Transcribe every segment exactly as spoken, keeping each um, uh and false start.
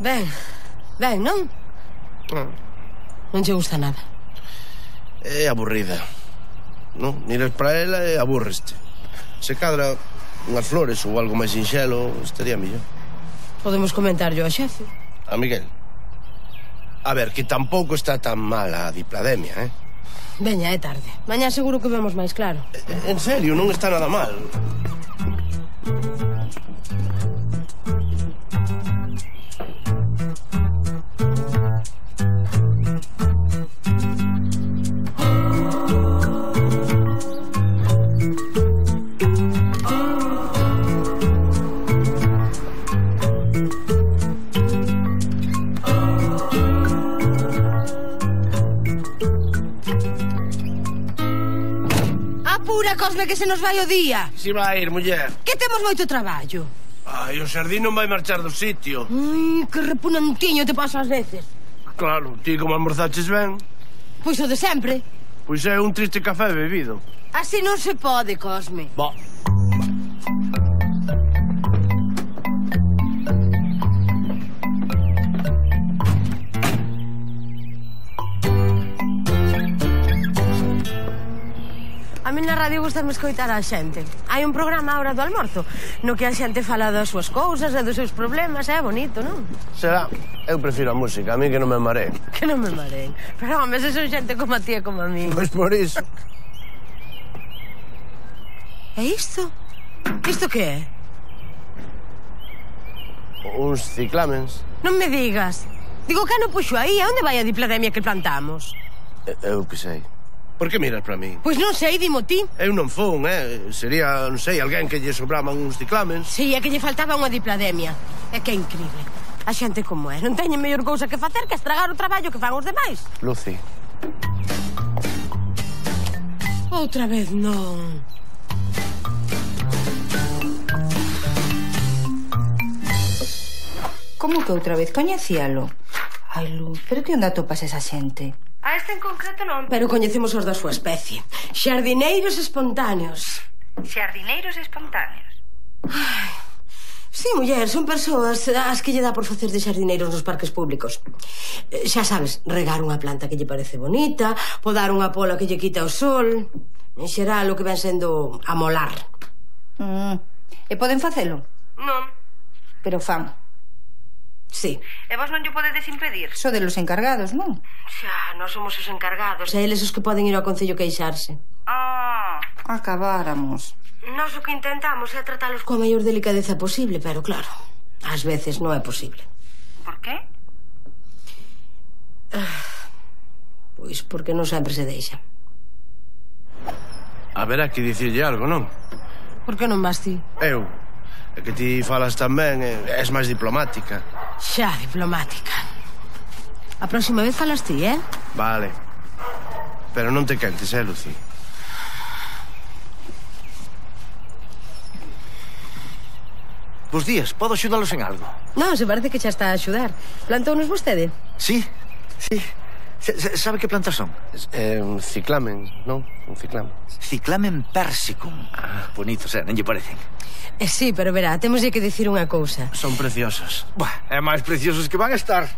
Ben, ben, non? Non. Non che gusta nada. É aburrida. Non? Miras para ela e aburreste. Se cadra unhas flores ou algo máis sinxelo, estaría mellor. Podemos comentarlo ao xefe. A Miguel. A ver, que tampouco está tan mala a diplademia, eh? Veña, é tarde. Mañá seguro que vemos máis claro. En serio, non está nada mal. Apura, Cosme, que se nos vai o día. Si vai ir, muller. Que temos moito traballo. Ai, o xardín non vai marchar do sitio. Ai, que repunantiño te pasa ás veces. Claro, ti como almorzaches ben. Pois o de sempre. Pois é un triste café bebido. Así non se pode, Cosme. Bo. A mí na radio gustame escoitar a xente. Hai un programa a hora do almorzo no que a xente fala das súas cousas e dos seus problemas. É bonito, non? Será. Eu prefiro a música, a mí que non me mareen. Que non me mareen. Pero, home, se son xente como a ti e como a mí. Pois por iso. E isto? Isto que é? Uns ciclamens. Non me digas. Digo, que non puxo aí? A onde vai a diplademia que plantamos? Eu que sei. Por que miras para mí? Pois non sei, dimo ti. Eu non fun, eh? Sería, non sei, alguén que lle sobraban uns ciclamens. Si, é que lle faltaba unha diplademia. É que é incrível. A xente como é. Non teñen mellor cousa que facer que estragar o traballo que fan os demais. Lucy. Outra vez non. Como que outra vez? Coñecíalo? Ai, Luz, pero que onda topas esa xente? A este en concreto non, pero coñecemos os da súa especie. Xardineiros espontáneos. Xardineiros espontáneos. Ai, sí, muller, son persoas as que lle dá por facer de xardineiros nos parques públicos. Xa sabes, regar unha planta que lle parece bonita, podar unha pola que lle quita o sol. En xeral, o que ven sendo amolar. Mm. E poden facelo? Non. Pero fan. Sí. E vos non lle podedes impedir? So de los encargados, non? Xa, nós somos os encargados. E eles os que poden ir ao concello queixarse. Ah, acabáramos. Nós o que intentamos é tratalos coa maior delicadeza posible, pero claro, ás veces non é posible. Por qué? Ah, pois porque non sempre se deixa. Haberá que dicirlle algo, non? Por que non vas ti? Eu. É que ti falas tan ben, és máis diplomática. Xa, diplomática. A próxima vez falas ti, eh? Vale. Pero non te quentes, eh, Lucy? Bos días, podo axudalos en algo? Non, se parece que xa está a axudar. Plantounos vostede? Sí, sí. Sabe que plantas son? É un ciclamen, non? Un ciclamen. Ciclamen persicum. Ah, bonitos, eh? Non lle parecen? Eh, sí, pero verá, temos que dicir unha cousa. Son preciosas. Buah, é máis preciosos que van a estar.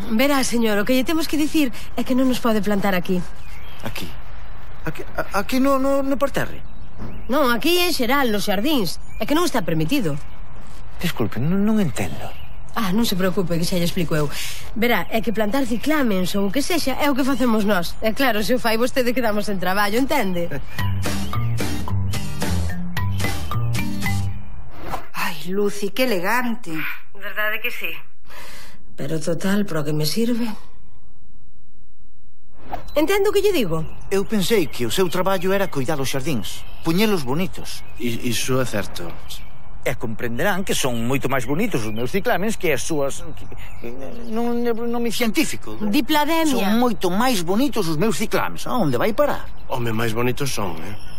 Verá, señor, o que lle temos que dicir é que non nos pode plantar aquí. Aquí? Aquí, aquí no, no, no parterre? Non, aquí en xeral, nos xardíns. É que non está permitido. Disculpe, non, non entendo. Ah, non se preocupe, que xa lle explico eu. Verá, é que plantar ciclamens ou o que sexa é o que facemos nós. É claro, se o fai vostede quedamos en traballo, entende? Ai, Lucy, que elegante. Verdade que sí. Pero total, pro que me sirve? Entendo o que lle digo? Eu pensei que o seu traballo era cuidar os xardíns, puñelos bonitos. I, iso é certo. E comprenderán que son moito máis bonitos os meus ciclamens que as súas... Non nome científico. Diplademia. Son moito máis bonitos os meus ciclames. A onde vai parar? Home, máis bonitos son, eh?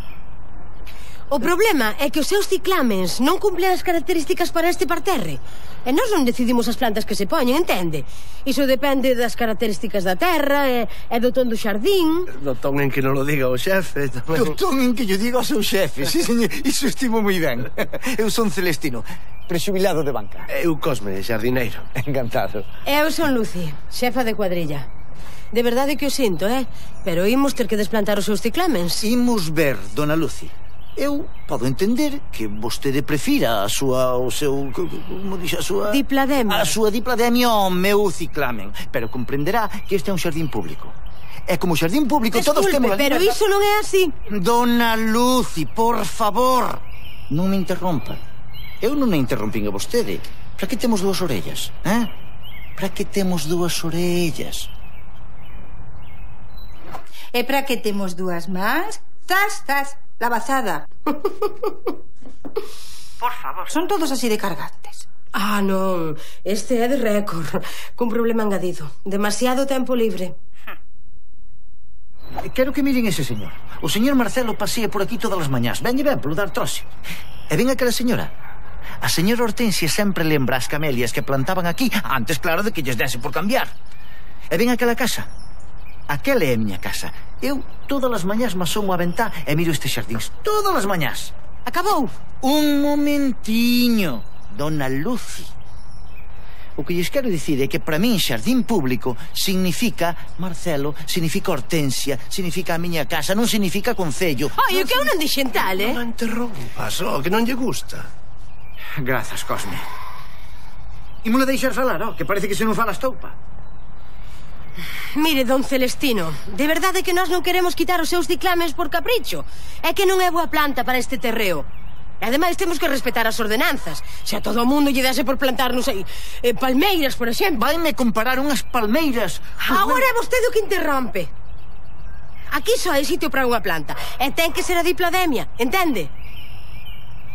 O problema é que os seus ciclamens non cumplen as características para este parterre. E nós non decidimos as plantas que se poñen, entende? Iso depende das características da terra e, e do ton do xardín. Do ton en que non lo diga o xefe tamén. Do ton en que yo digo ao seu xefe. Sí, señor, iso estimo moi ben. Eu son Celestino, prexubilado de banca. Eu Cosme, xardineiro. Encantado. Eu son Lucy, xefa de cuadrilla. De verdade que o sinto, eh? Pero imos ter que desplantar os seus ciclamens. Imos ver, dona Lucy. Eu podo entender que vostede prefira a súa, o seu, como dixe, a súa... Diplademia. A súa diplademia ao meu ciclamen. Pero comprenderá que este é un xardín público. E como xardín público Desculpe, todos temos... pero iso non é así. Dona Lucy, por favor, non me interrompa. Eu non me interrompín a vostede. Para que temos dúas orellas, eh? Para que temos dúas orellas? E para que temos dúas más? Zas, zas, la bazada. Por favor, son todos así de cargantes. Ah, non, este é de récord, cun problema engadido. Demasiado tempo libre. Quero que miren ese señor. O señor Marcelo pasea por aquí todas as mañás. Venlle ben polo dar troxe. E ven aquela señora. A señora Hortensia sempre lembra as camelias que plantaban aquí, antes, claro, de que lles dese por cambiar. E ven aquela casa. Aquela é a miña casa. Eu todas as mañás me asomo a ventá e miro estes xardíns. Todas as mañás. Acabou? Un momentiño, dona Lucy. O que lles quero dicir é que para min xardín público significa Marcelo, significa Hortensia, significa a miña casa, non significa concello. Ai, o que eu non dixen tal, eh? Non interrompas, oh, que non lle gusta. Grazas, Cosme. Imola deixar falar, oh, que parece que se non fala estoupa. Mire, don Celestino, de verdade que nós non queremos quitar os seus ciclames por capricho. É que non é boa planta para este terreo. E ademais temos que respetar as ordenanzas. Se a todo o mundo lle dase por plantar, non sei, eh, palmeiras, por exemplo. Vaime comparar unhas palmeiras. Agora é vostede o que interrompe. Aquí só hai sitio para unha planta. E ten que ser a diplademia, entende?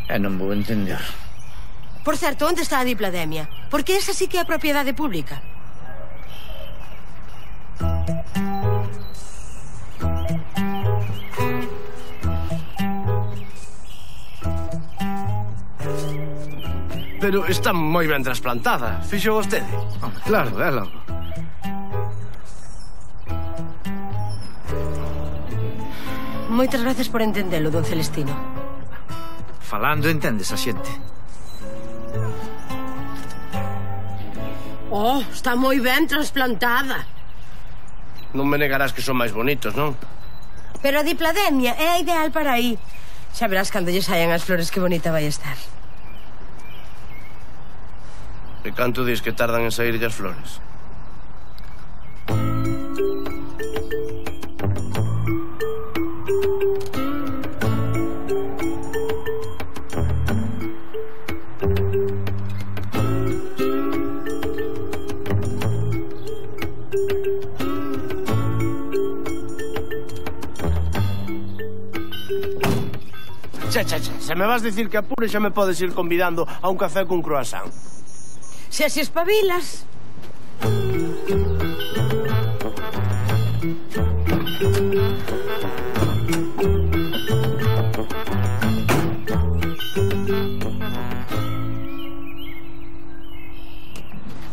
E non vou entender. Por certo, onde está a diplademia? Porque esa sí que é propiedade pública. Pero está moi ben trasplantada. Fixo vostede? Claro, é logo. Moitas gracias por entendelo, don Celestino. Falando entendes a xente. Oh, está moi ben trasplantada. Non me negarás que son máis bonitos, non? Pero a diplademia é a ideal para aí. Xa verás cando lle saian as flores que bonita vai estar. E canto dis que tardan en saírlle as flores? Xa, xa, xa, se me vas dicir que apure xa me podes ir convidando a un café cun croissant. Se se espabilas.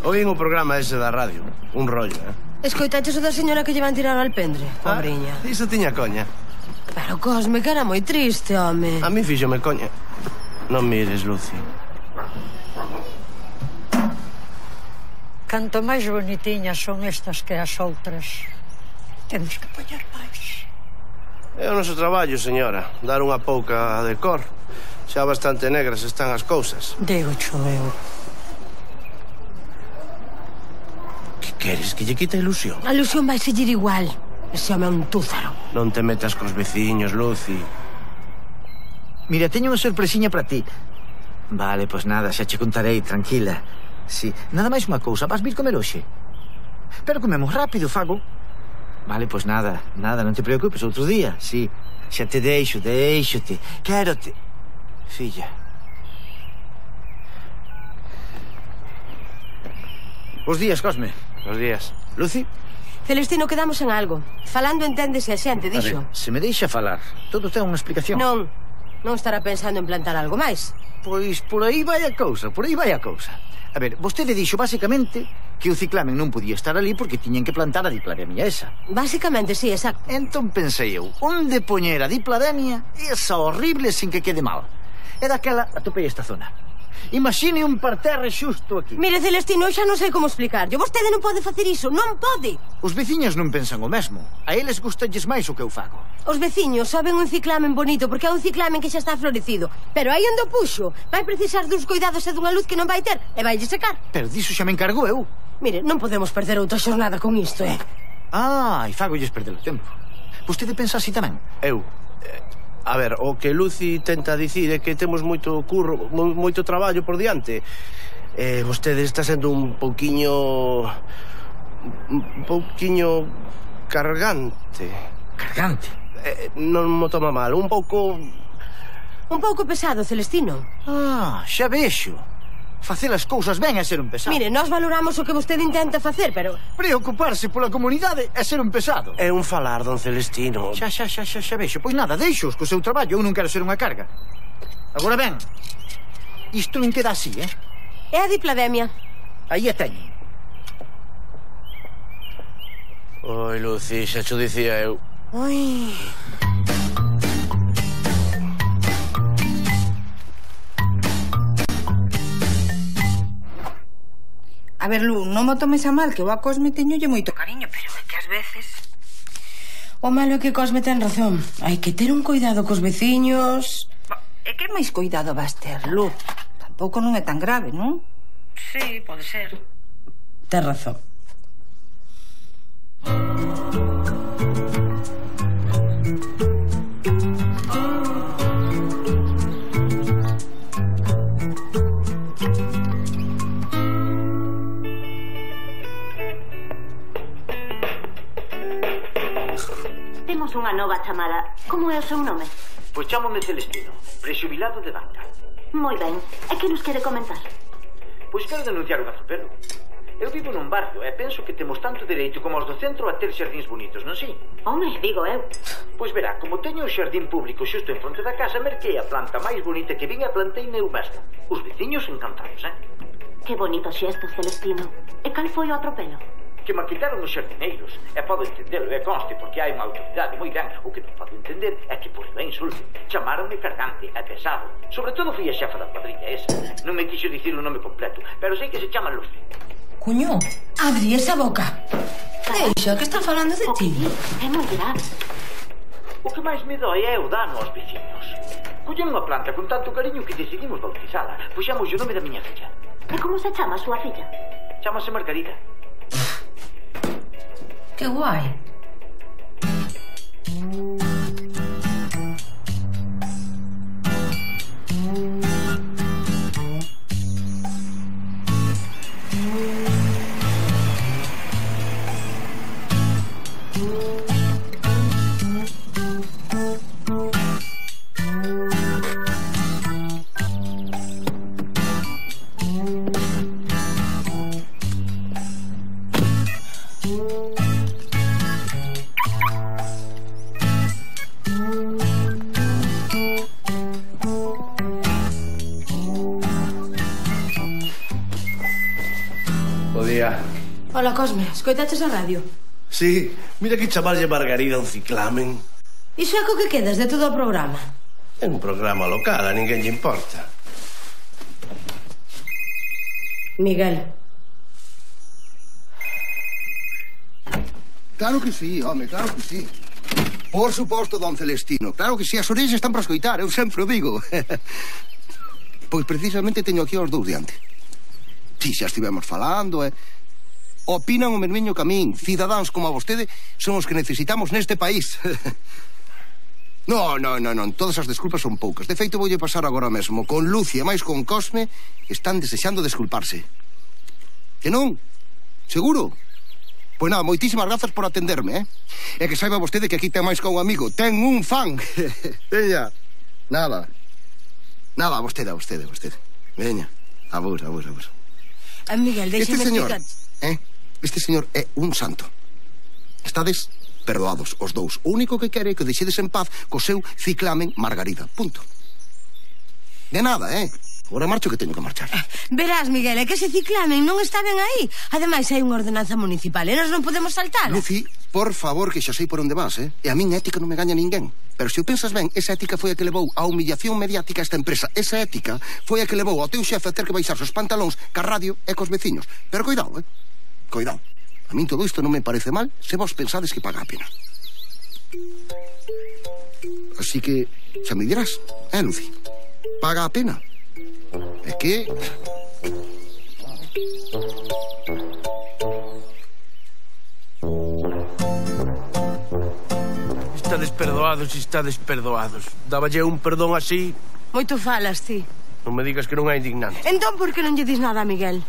Oín o programa ese da radio. Un rollo, eh? Escoitaches o da señora que lle van tirar ao alpendre, pobriña. Ah, iso tiña coña. Pero Cosme, que era moi triste, home. A mí fíxome coña. Non mires, Lucy. Canto máis bonitiñas son estas que as outras. Temos que poñer máis. É o noso traballo, señora. Dar unha pouca de cor. Xa bastante negras están as cousas. Digo cho eu. queres? Que lle quita a ilusión? A ilusión vai seguir igual. Ese home é un túzaro. Non te metas cos veciños, Lucy. Mira, teño unha sorpresiña para ti. Vale, pois nada, xa che contarei, tranquila. Sí, nada máis unha cousa, vas vir comer hoxe? Pero comemos rápido, Fago. Vale, pois nada, nada, non te preocupes, outro día, sí. Xa te deixo, deixo-te. Quérote. Filla. Bos días, Cosme. Bos días. Lucy? Celestino, quedamos en algo. Falando enténdese a xente, dixo. A ver, se me deixa falar, todo ten unha explicación. Non, non estará pensando en plantar algo máis. Pois por aí vai a cousa, por aí vai a cousa. A ver, vostede dixo basicamente que o ciclamen non podía estar ali porque tiñen que plantar a diplademia esa. Básicamente, sí, exacto. Entón pensei eu, onde poñer a diplademia esa horrible sin que quede mal. E daquela atopei esta zona. Imagine un parterre xusto aquí. Mire, Celestino, eu xa non sei como explicarlle. Vostede non pode facer iso, non pode. Os veciños non pensan o mesmo. A eles gustalles máis o que eu fago. Os veciños saben un ciclamen bonito porque é un ciclamen que xa está florecido. Pero aí onde o puxo vai precisar duns cuidados e dunha luz que non vai ter e vai lle secar. Pero diso xa me encargo eu. Mire, non podemos perder outra xornada con isto, eh? Ah, e fagolles perder o tempo. Vostede pensa así tamén? Eu... Eh... A ver, o que Lucy tenta dicir é que temos moito curro, moito traballo por diante. Eh, vostede está sendo un pouquiño... un pouquiño cargante. Cargante? Eh, non mo toma mal, un pouco... Un pouco pesado, Celestino. Ah, xa vexo. Facer as cousas ben é ser un pesado. Mire, nós valoramos o que vostede intenta facer, pero... Preocuparse pola comunidade é ser un pesado. É un falar, don Celestino. Xa, xa, xa, xa, xa vexo. Pois nada, deixos co seu traballo. Eu non quero ser unha carga. Agora ben, isto non queda así, eh? É a diplademia. Aí a teñen. Oi, Lucy, xa xo dicía eu. Oi... A ver, Lu, non mo tomes a mal, que eu a Cosme teñolle moito cariño, pero é que ás veces... O malo é que Cosme ten razón. Hai que ter un cuidado cos veciños... É que máis cuidado vas ter, Lu. Tampouco non é tan grave, non? Sí, pode ser. Ten razón. Temos unha nova chamada. Como é o seu nome? Pois chámome Celestino, prexubilado de banca. Moi ben. E que nos quere comentar? Pois quero denunciar un atropelo. Eu vivo nun barrio e penso que temos tanto dereito como os do centro a ter xardíns bonitos, non si? Home, digo eu. Pois verá, como teño o xardín público xusto en fronte da casa, merquei a planta máis bonita que vin e plantei eu mesmo. Os veciños encantados, eh? Que bonito xesto, Celestino. E cal foi o atropelo? Que me quitaron os xardineiros. E podo entendelo, e conste, porque hai unha autoridade moi grande. O que non podo entender é que por ben insulte. Chamaronme cargante e pesado. Sobre todo fui a xefa da cuadrilla esa. Non me quixo dicir o nome completo, pero sei que se chama Lucy. Cuño, abri esa boca. Deixa, que está falando de ti. É moi grave. O que máis me dói é o dano aos veciños. Collen unha planta con tanto cariño que decidimos bautizala. Puxamos o nome da miña filla. E como se chama a súa filla? Chámase Margarida. Que guai. Hola, Cosme, escoitaches a radio? Sí, mira que chamarlle Margarida un ciclamen. Iso é co que quedas de todo o programa? É un programa local, a ninguén lle importa. Miguel. Claro que sí, home, claro que sí. Por suposto, don Celestino. Claro que sí, as orellas están para escoitar, eu sempre o digo. Pois precisamente teño aquí os dous diante. Si, xa estivemos falando, e... opinan o mesmiño que a min. Cidadáns como a vostede son os que necesitamos neste país. No, no, no, non, todas as desculpas son poucas. De feito, voulle pasar agora mesmo. Con Lucia, máis con Cosme, están desexando desculparse. Que non? Seguro? Pois nada, moitísimas grazas por atenderme, eh? E que saiba vostede que aquí ten máis que un amigo. Ten un fan. Veña. Nada. Nada, a vostede, a vostede, a vostede. Veña. A vos, a vos, a vos. A Miguel, deixeme este señor, explicar... eh? Este señor é un santo. Estades perdoados os dous. O único que quere é que deixedes en paz co seu ciclamen Margarida. Punto. De nada, eh? Agora marcho que teño que marchar. Verás, Miguel, é que ese ciclamen non está ben aí. Ademais, hai unha ordenanza municipal e nós non podemos saltala. Lucy, por favor, que xa sei por onde vas, eh? E a min ética non me gaña ninguén. Pero se o pensas ben, esa ética foi a que levou a humillación mediática a esta empresa. Esa ética foi a que levou ao teu xefe a ter que baixarse os pantalóns ca radio e cos veciños. Pero coidado, eh? Coidado. A min todo isto non me parece mal se vos pensades que paga a pena. Así que, xa me dirás, eh, Lucy? Paga a pena. É que... Estades perdoados, estades perdoados. Dáballe un perdón así... Moito falas, ti. Non me digas que non é indignante. Entón, por que non lle dis nada a Miguel?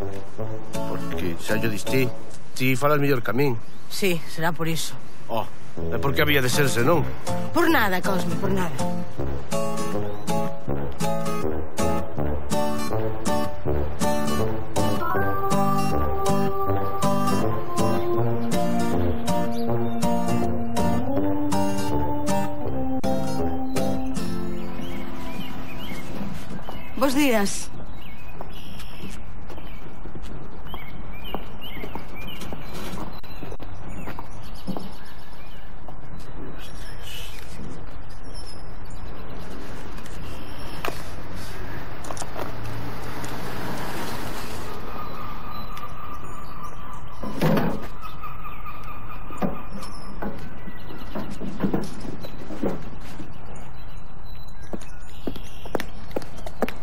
Porque xa yo dis ti. Ti falas mellor que a min. Sí, será por iso. Oh, é porque había de serse, non? Por nada, Cosme, por nada. Bos días.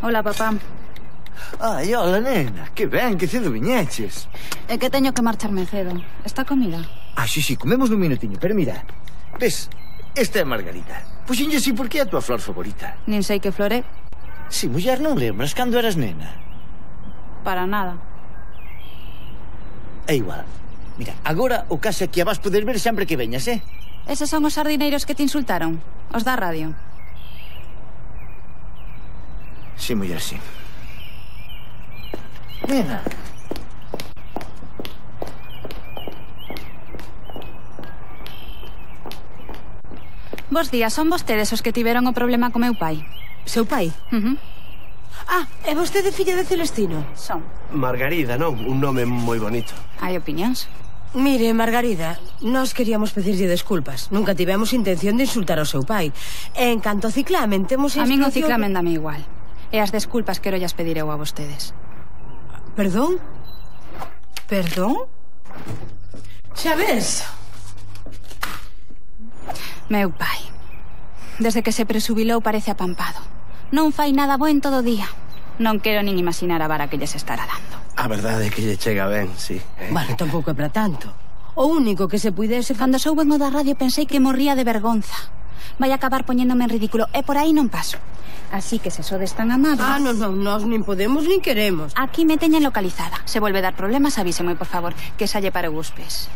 Hola, papá. Ai, hola, nena. Que ben, que cedo viñeches. É que teño que marcharme cedo. Está comida? Ah, sí, sí, comemos nun minutiño. Pero mira, ves, esta é Margarida. Puxenlle así porque é a tua flor favorita. Nin sei que flor é. Si, muller, non lembras cando eras nena? Para nada. É igual. Mira, agora o caso é que a vas poder ver sempre que veñas, eh? Eses son os sardineiros que te insultaron? Os da radio? Sí, muller, sí. Nena. Bos días, son vostedes os que tiveron o problema co meu pai? Seu pai? Uh -huh. Ah, é vostede filla de Celestino? Son. Margarida, non? Un nome moi bonito. Hai opinións? Mire, Margarida, nós queríamos pedirlle desculpas. Nunca tivemos intención de insultar ao seu pai. E en canto ao ciclamen, temos a min o instrucción... ciclamen dame igual. E as desculpas quero llas pedir eu a vostedes. Perdón? Perdón? Xa ves? Meu pai, desde que se presubilou parece apampado. Non fai nada bo en todo o día. Non quero nin imaginar a vara que lles estará dando. A verdade é que lle chega ben, sí. Bueno, tampouco é para tanto. O único que se puidese... Cando souben o da radio pensei que morría de vergonza. Vai acabar poñéndome en ridículo e por aí non paso. Así que se sodes tan amables... Ah, non, non, nós nin podemos nin queremos. Aquí me teñen localizada. Se volve dar problemas, avíseme, por favor, que salle para os pés.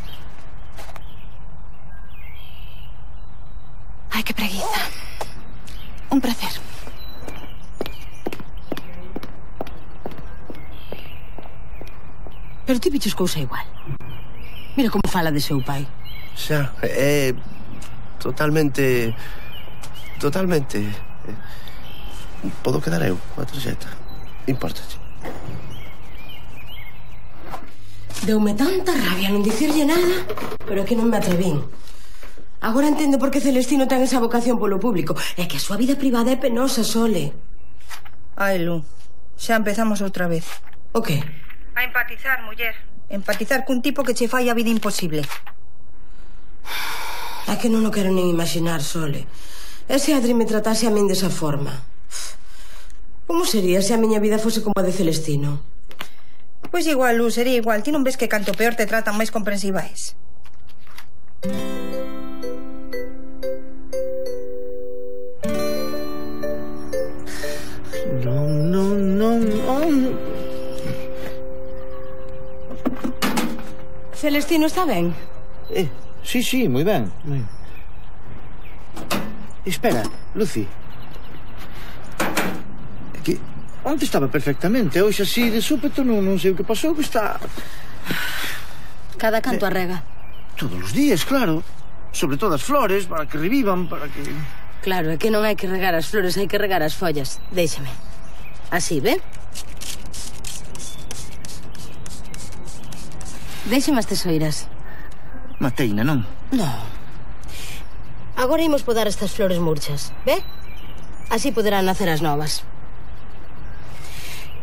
Ai, que preguiza. Un placer. Pero ti bichos cousa igual. Mira como fala de seu pai. Xa, é... Totalmente... Totalmente... Podo quedar eu, a tarxeta. Impórtache. Deume tanta rabia non dicirlle nada, pero é que non me atrevín. Agora entendo por que Celestino ten esa vocación polo público. É que a súa vida privada é penosa, Sole. Ai, Lu, xa empezamos outra vez. O que? A empatizar, muller. Empatizar cun tipo que che fai a vida imposible. É que non o quero nin imaginar, Sole. E se Adri me tratase a min desa forma? Como sería se a miña vida fose como a de Celestino? Pois igual, Luz, sería igual. Ti non ves que canto peor te tratan máis comprensiva és? Non, non, non, non. Celestino está ben? Eh, sí, sí, moi ben. Moi... Espera, Lucy. Que onte estaba perfectamente, hoxe así de súpeto non, non sei o que pasou, que está... Cada canto eh, arrega. Todos os días, claro. Sobre todo as flores, para que revivan, para que... Claro, é que non hai que regar as flores, hai que regar as follas. Déixame. Así, ve? Déixame as tesoiras. Mateina, non? Non. Agora imos podar estas flores murchas, ve? Así poderán nacer as novas.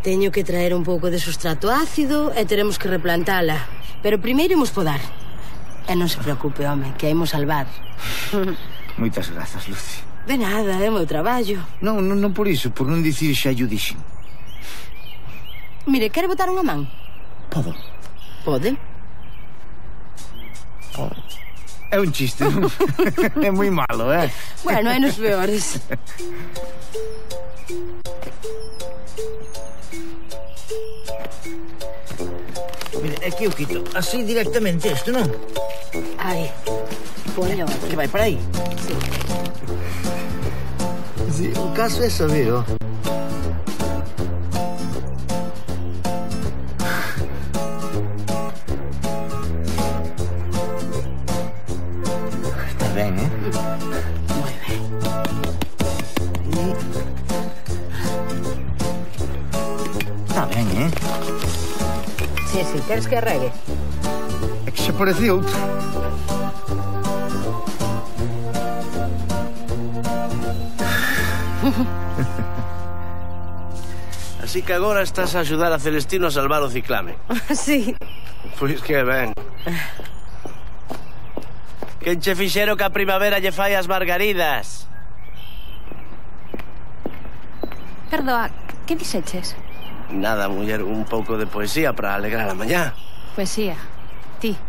Teño que traer un pouco de sustrato ácido e teremos que replantala. Pero primeiro imos podar. E non se preocupe, home, que a imos salvar. Moitas grazas, Lucy. De nada, é o meu traballo. Non, non, non por iso, por non dicir xa yo dixen. Mire, quere botar unha man? Podo. Pode. Podo. É un chiste, non? É moi malo, eh? Bueno, hai nos peores. Mira, é que eu quito así directamente isto, non? Ai, poño. Que vai para aí? Sí. Sí, o caso é saber, ó. Está ben, eh? Moi ben. Está ben, eh? Sí, sí, queres que arregue? É que xa parece outro. Así que agora estás a axudar a Celestino a salvar o ciclame. Sí. Pois que ben. Quen che fixero que a primavera lle fai as margaridas? Perdoa, que dixeches? Nada, muller, un pouco de poesía para alegrar a mañá. Poesía. Ti.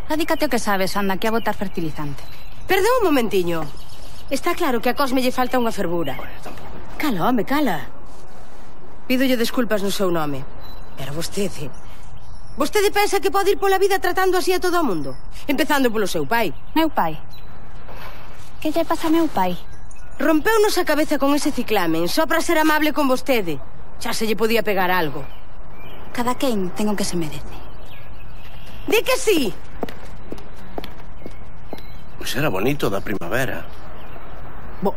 Adícate o que sabes, anda, que a botar fertilizante. Perdón un momentiño. Está claro que a Cosme lle falta unha fervura. Cala, home, cala. Pídolle desculpas no seu nome. Pero vostede... Vostede pensa que pode ir pola vida tratando así a todo o mundo? Empezando polo seu pai. Meu pai. Que lle pasa a meu pai? Rompeunos a cabeza con ese ciclamen, só para ser amable con vostede. Xa se lle podía pegar algo. Cada quen ten o que se merece. Di que sí! Pois era bonito da primavera. Bo...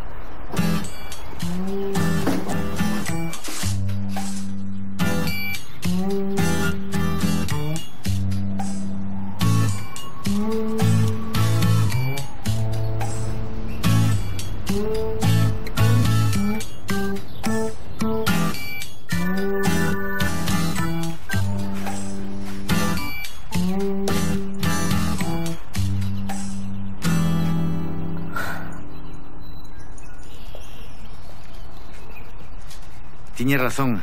Tiña razón.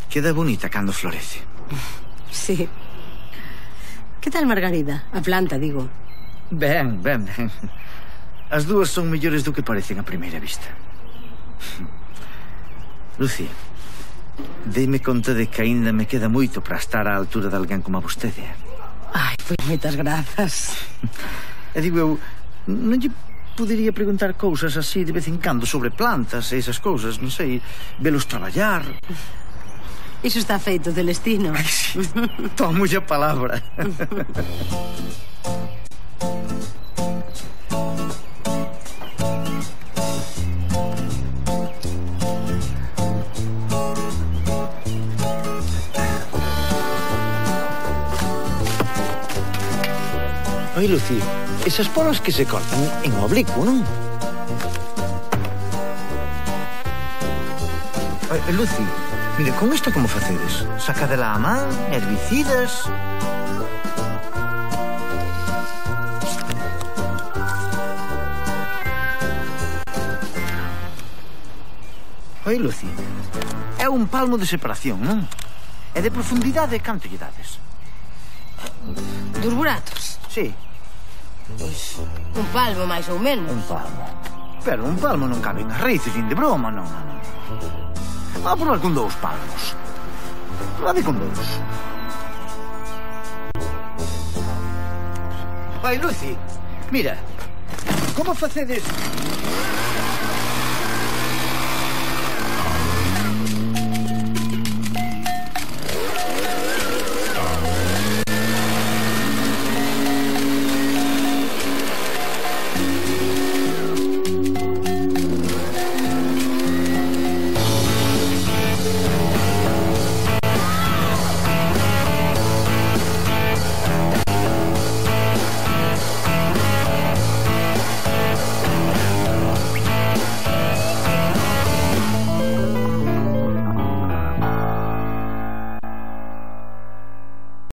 Queda bonita cando florece. Sí. Que tal Margarida? A planta, digo. Ben, ben, ben. As dúas son mellores do que parecen a primeira vista. Lucy, deime conta de que aínda me queda moito para estar á altura de alguén como a vostede. Ai, pois moitas grazas. E digo eu, non lle podería preguntar cousas así de vez en cando sobre plantas e esas cousas, non sei, velos traballar. Iso está feito, Celestino. Ai, sí. Tomo a palabra. Oi, Lucy, esas polas que se cortan en oblicuo, non? Oi, Lucy, mire, con isto como facedes? Sacadela a man, herbicidas... Oi, Lucy, é un palmo de separación, non? E de profundidade, canto lle dades? Dos buratos? Sí. Pois un palmo, máis ou menos. Un palmo. Pero un palmo non cabe nas raíces, nin de broma, non, non. Vá probar con dous palmos. Probade con dous. Vai, Lucy, mira, como facedes